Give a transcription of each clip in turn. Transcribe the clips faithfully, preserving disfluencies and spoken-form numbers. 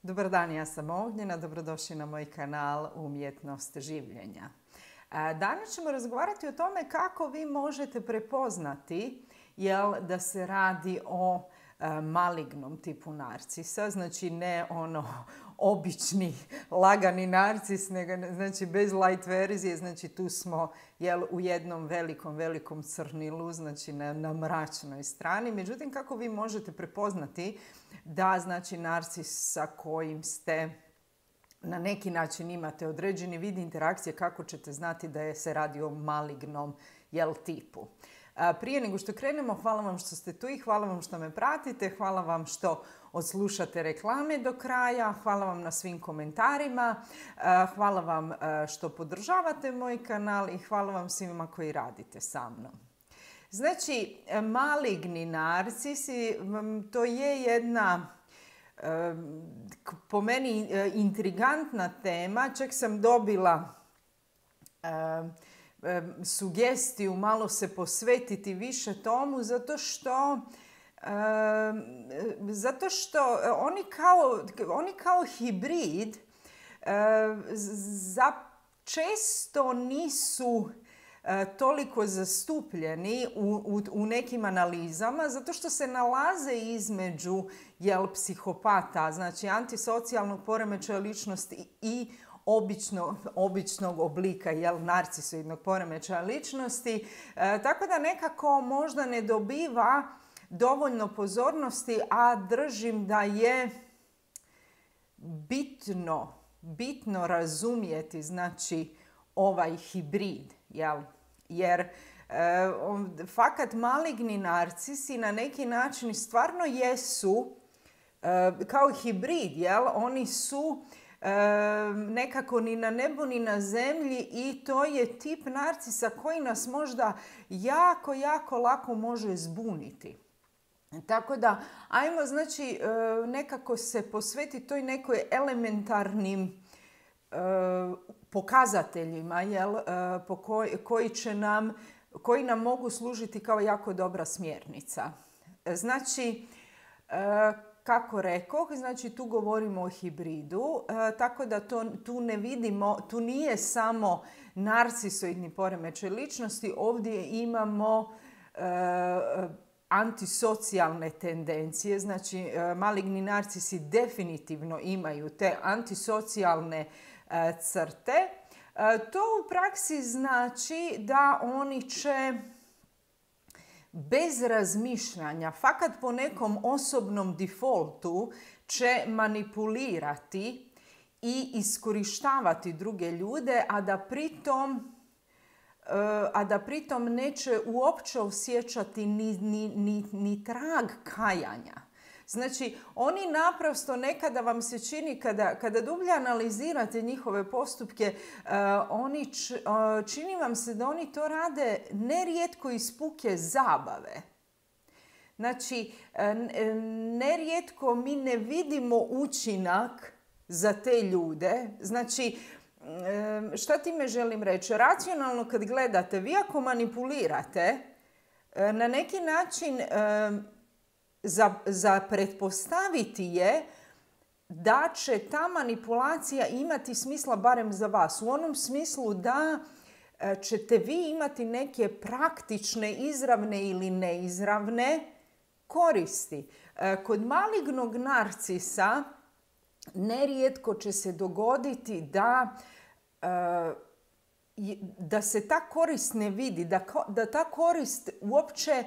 Dobar dan, ja sam Ognjena, dobrodošli na moj kanal Umjetnost življenja. Danas ćemo razgovarati o tome kako vi možete prepoznati jel, da se radi o malignom tipu narcisa, znači ne ono obični lagani narcis, nego znači bez light verzije, znači tu smo jel, u jednom velikom, velikom crnilu, znači na, na mračnoj strani. Međutim, kako vi možete prepoznati da znači narcis sa kojim ste na neki način imate određeni vid interakcije, kako ćete znati da je se radi o malignom jel, tipu. Prije nego što krenemo, hvala vam što ste tu i hvala vam što me pratite, hvala vam što odslušate reklame do kraja, hvala vam na svim komentarima, hvala vam što podržavate moj kanal i hvala vam svima koji radite sa mnom. Znači, maligni narcisi, to je jedna po meni intrigantna tema, čak sam dobila sugestiju malo se posvetiti više tomu zato što zato što oni kao, oni kao hibrid za često nisu toliko zastupljeni u, u, u nekim analizama zato što se nalaze između jel, psihopata, znači antisocijalnog poremećaja ličnosti i Obično, običnog oblika jel, narcisoidnog poremećaja ličnosti. E, tako da nekako možda ne dobiva dovoljno pozornosti, a držim da je bitno, bitno razumjeti znači, ovaj hibrid. Jel? Jer e, on, fakat maligni narcisi na neki način stvarno jesu e, kao hibrid. Jel? Oni su E, nekako ni na nebu ni na zemlji i to je tip narcisa koji nas možda jako, jako lako može zbuniti. Tako da, ajmo znači nekako se posvetiti toj nekoj elementarnim e, pokazateljima jel, po koj, koji, će nam, koji nam mogu služiti kao jako dobra smjernica. Znači, e, kako rekoh, znači tu govorimo o hibridu, e, tako da to, tu ne vidimo, tu nije samo narcisoidni poremećaj ličnosti, ovdje imamo e, antisocijalne tendencije, znači e, maligni narcisi definitivno imaju te antisocijalne e, crte. E, to u praksi znači da oni će bez razmišljanja, fakat po nekom osobnom defaultu će manipulirati i iskorištavati druge ljude, a da pritom, a da pritom neće uopće osjećati ni, ni, ni, ni trag kajanja. Znači, oni naprosto nekada vam se čini, kada, kada dublje analizirate njihove postupke, uh, oni č, uh, čini vam se da oni to rade nerijetko iz puke zabave. Znači, uh, nerijetko mi ne vidimo učinak za te ljude. Znači, uh, šta time želim reći? Racionalno kad gledate, vi ako manipulirate, uh, na neki način uh, Za, za pretpostaviti je da će ta manipulacija imati smisla barem za vas. U onom smislu da ćete vi imati neke praktične, izravne ili neizravne koristi. Kod malignog narcisa nerijetko će se dogoditi da, da se ta korist ne vidi, da, da ta korist uopće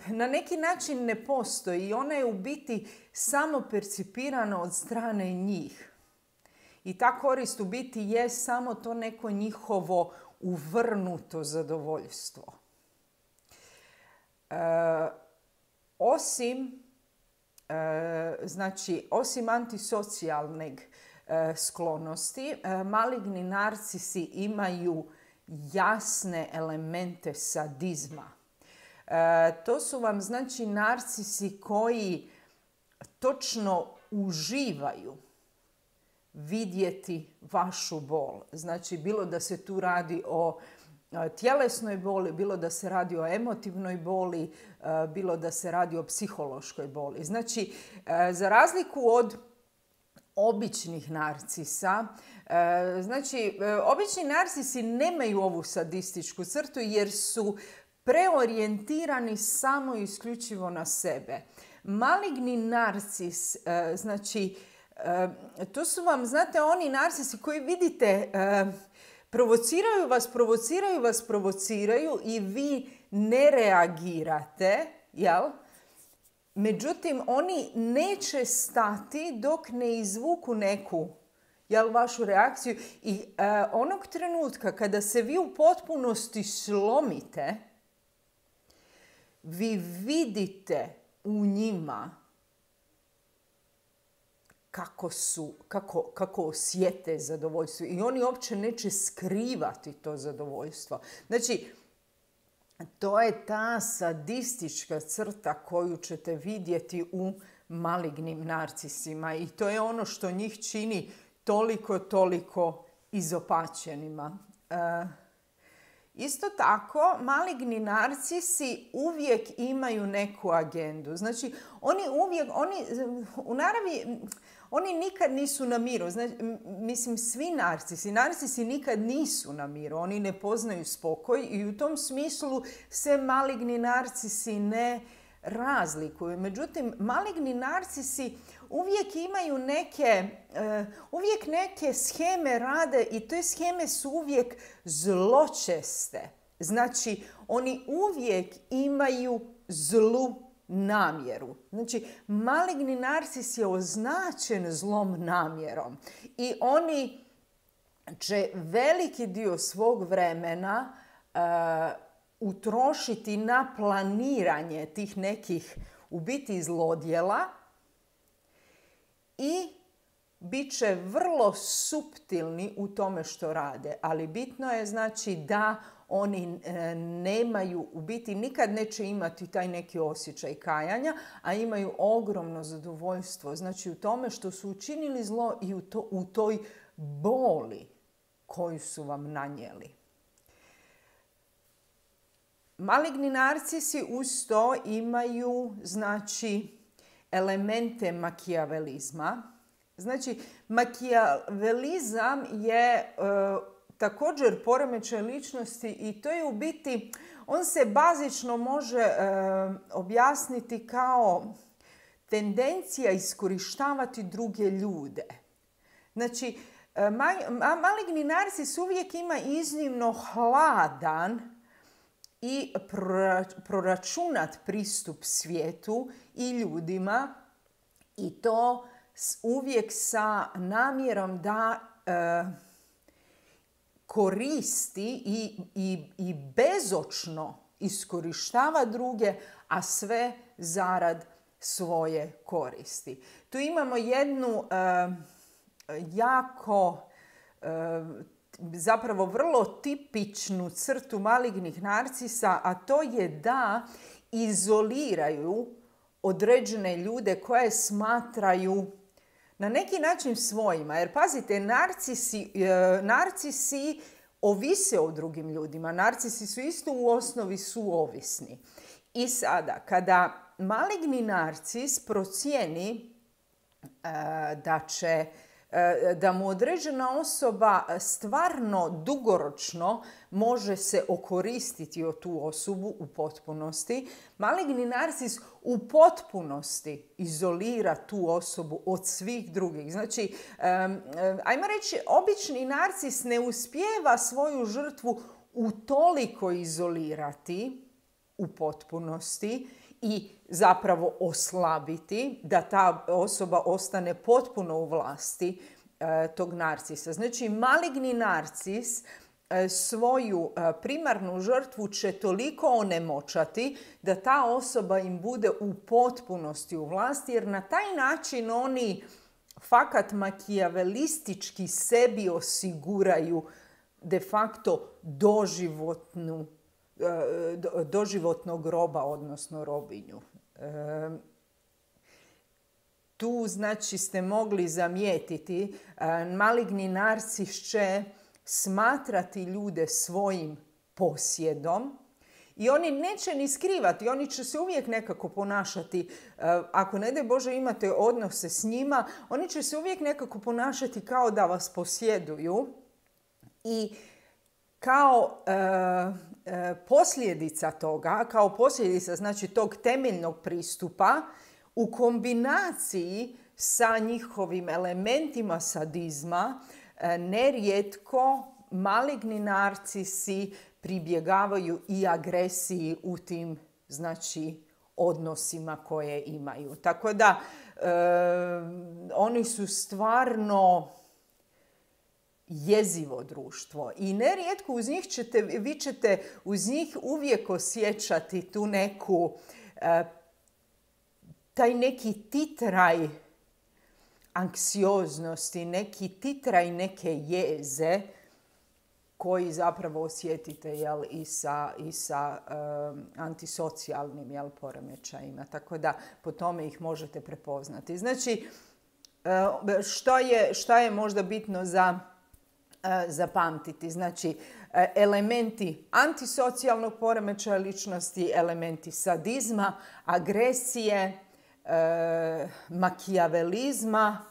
na neki način ne postoji i ona je u biti samo percipirana od strane njih. I ta korist u biti je samo to neko njihovo uvrnuto zadovoljstvo. E, osim, e, znači, osim antisocijalne e, sklonosti, e, maligni narcisi imaju jasne elemente sadizma. E, to su vam znači narcisi koji točno uživaju vidjeti vašu bol. Znači bilo da se tu radi o tjelesnoj boli, bilo da se radi o emotivnoj boli, bilo da se radi o psihološkoj boli. Znači, za razliku od običnih narcisa. E, znači, e, obični narcisi nemaju ovu sadističku crtu jer su preorijentirani samo i isključivo na sebe. Maligni narcis, e, znači, e, to su vam, znate, oni narcisi koji vidite, e, provociraju vas, provociraju vas, provociraju i vi ne reagirate, jel? Međutim, oni neće stati dok ne izvuku neku, jel, vašu reakciju. I e, onog trenutka kada se vi u potpunosti slomite, vi vidite u njima kako su, kako, kako osjete zadovoljstvo. I oni uopće neće skrivati to zadovoljstvo. Znači, to je ta sadistička crta koju ćete vidjeti u malignim narcisima. I to je ono što njih čini toliko, toliko izopačenima. E, Isto tako, maligni narcisi uvijek imaju neku agendu. Znači, oni uvijek, oni, u naravi, oni nikad nisu na miru. Znači, mislim, svi narcisi, narcisi nikad nisu na miru. Oni ne poznaju spokoj i u tom smislu se maligni narcisi ne razlikuju. Međutim, maligni narcisi uvijek imaju neke, uh, uvijek neke sheme rade i te sheme su uvijek zločeste. Znači, oni uvijek imaju zlu namjeru. Znači, maligni narcis je označen zlom namjerom i oni će veliki dio svog vremena uh, utrošiti na planiranje tih nekih u biti zlodjela i bit će vrlo suptilni u tome što rade. Ali bitno je znači da oni e, nemaju, u biti nikad neće imati taj neki osjećaj kajanja, a imaju ogromno zadovoljstvo. Znači u tome što su učinili zlo i u, to, u toj boli koju su vam nanijeli. Maligni narcisi uz to imaju, znači, elemente makijavelizma. Znači, makijavelizam je e, također poremećaj ličnosti i to je u biti, on se bazično može e, objasniti kao tendencija iskorištavati druge ljude. Znači, e, ma, ma, maligni narcis uvijek ima iznimno hladan i proračunat pristup svijetu i ljudima i to uvijek sa namjerom da e, koristi i, i, i bezočno iskorištava druge, a sve zarad svoje koristi. Tu imamo jednu e, jako e, zapravo vrlo tipičnu crtu malignih narcisa, a to je da izoliraju određene ljude koje smatraju na neki način svojima. Jer pazite, narcisi, narcisi ovise o drugim ljudima. Narcisi su isto u osnovi suovisni. I sada, kada maligni narcis procijeni da će da mu određena osoba stvarno dugoročno može se okoristiti od tu osobu u potpunosti, maligni narcis u potpunosti izolira tu osobu od svih drugih. Znači, ajmo reći, obični narcis ne uspijeva svoju žrtvu utoliko izolirati u potpunosti i zapravo oslabiti, da ta osoba ostane potpuno u vlasti e, tog narcisa. Znači, maligni narcis e, svoju e, primarnu žrtvu će toliko onemoćati da ta osoba im bude u potpunosti u vlasti, jer na taj način oni fakat makijavelistički sebi osiguraju de facto doživotnu doživotnog roba, odnosno robinju. E, tu, znači, ste mogli zamijetiti, e, maligni narcis će smatrati ljude svojim posjedom I oni neće ni skrivati, oni će se uvijek nekako ponašati, ako ne daj Bože imate odnose s njima, oni će se uvijek nekako ponašati kao da vas posjeduju i kao e, e, posljedica toga, kao posljedica znači tog temeljnog pristupa u kombinaciji sa njihovim elementima sadizma, e, nerijetko maligni narcisi pribjegavaju i agresiji u tim znači odnosima koje imaju. Tako da e, oni su stvarno jezivo društvo i nerijetko uz njih ćete, vi ćete uz njih uvijek osjećati tu neku, e, taj neki titraj anksioznosti, neki titraj neke jeze koji zapravo osjetite jel, i sa, i sa um, antisocijalnim jel, poremećajima. Tako da po tome ih možete prepoznati. Znači, uh, što je, što je možda bitno za uh, zapamtiti? Znači, uh, elementi antisocijalnog poremećaja ličnosti, elementi sadizma, agresije, uh, makijavelizma,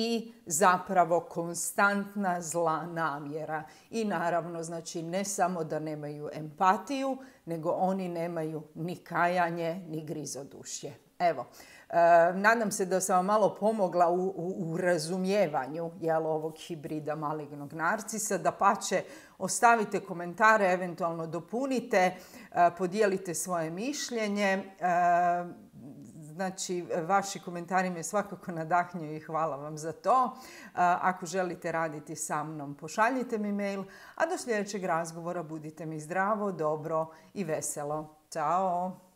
i zapravo konstantna zla namjera. I naravno, znači, ne samo da nemaju empatiju, nego oni nemaju ni kajanje, ni grizodušje. Evo, e, nadam se da sam vam malo pomogla u, u, u razumijevanju jel, ovog hibrida malignog narcisa. Dapače, ostavite komentare, eventualno dopunite, e, podijelite svoje mišljenje. E, Znači, vaši komentari me svakako nadahnjuju i hvala vam za to. Ako želite raditi sa mnom, pošaljite mi mail, a do sljedećeg razgovora budite mi zdravo, dobro i veselo. Ćao!